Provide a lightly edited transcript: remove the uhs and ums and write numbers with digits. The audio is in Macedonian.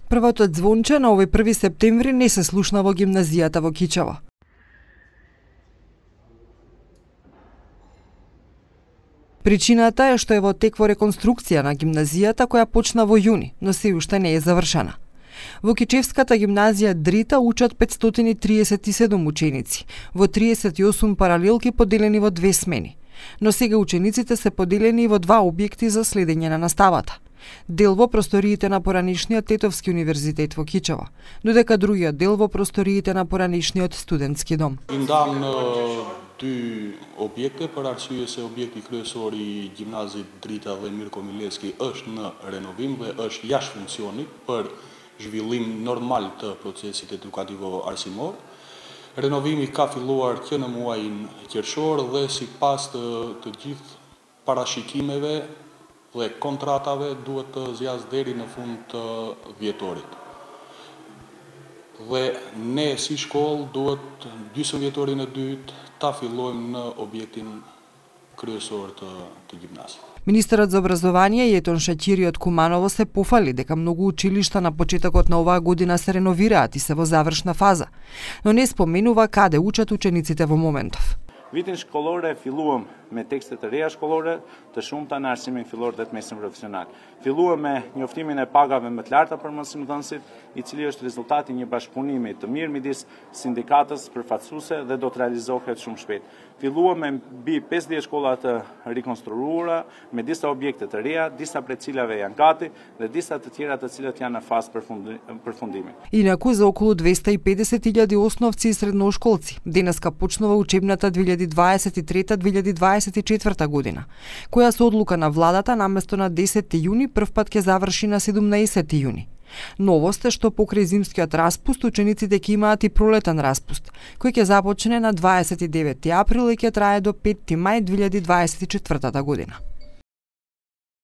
Првото звонче на овој 1 септември не се слушна во гимназијата во Кичево. Причината е што е во тек во реконструкција на гимназијата која почна во јуни, но се уште не е завршена. Во Кичевската гимназија Дрита учат 537 ученици, во 38 паралелки поделени во 2 смени. Но сега учениците се поделени во 2 објекти за следење на наставата. Дел во просториите на поранешниот Тетовски универзитет во Кичево, додека другиот дел во просториите на поранешниот студентски дом. Индам на 2 објекти, për arsye se objekti kryesor I gjimnazit Drita dhe Mirko Milevski është në renovim dhe është jashtë funksionit për zhvillim normal të procesit edukativo arsimor. Renovimi ka filluar që në muajin qershor dhe sipas të gjithë parashikimeve dhe kontratave duhet të zgjasë deri në fund të vjetorit. Dhe ne si shkollë duhet gjysmë vjetorin e dytë ta fillojmë në objektin kryesor të gjimnazit. Министерот за образование Јетон Шаќири од Куманово се пофали дека многу училишта на почетокот на оваа година се реновираат и се во завршна фаза, но не споменува каде учат учениците во моментов. Vitin shkollor e filluam me tekste të reja shkollore, të shumta në arsimin fillor dhe të mesin profesional. Filluam me njoftimin e pagave më të larta për mësimdhënësit, I cili është rezultati një bashkëpunimi të mirë midis sindikatës përfaqësuese dhe do të realizohet shumë shpejt. Filluam me mbi 50 shkolla të rikonstruuara me disa objekte të reja, disa prej cilave janë gati dhe disa të tjera të cilat janë në fazë përfundimi. Инаку за околу 250.000 основци и средношколци денеска почнува учебната 2023-2024 година, која со одлука на владата наместо на 10 јуни првпат ќе заврши на 17 јуни. Новост е што покрај зимскиот распуст учениците ќе имаат и пролетен распуст, кој ќе започне на 29 април и ќе трае до 5 мај 2024 година.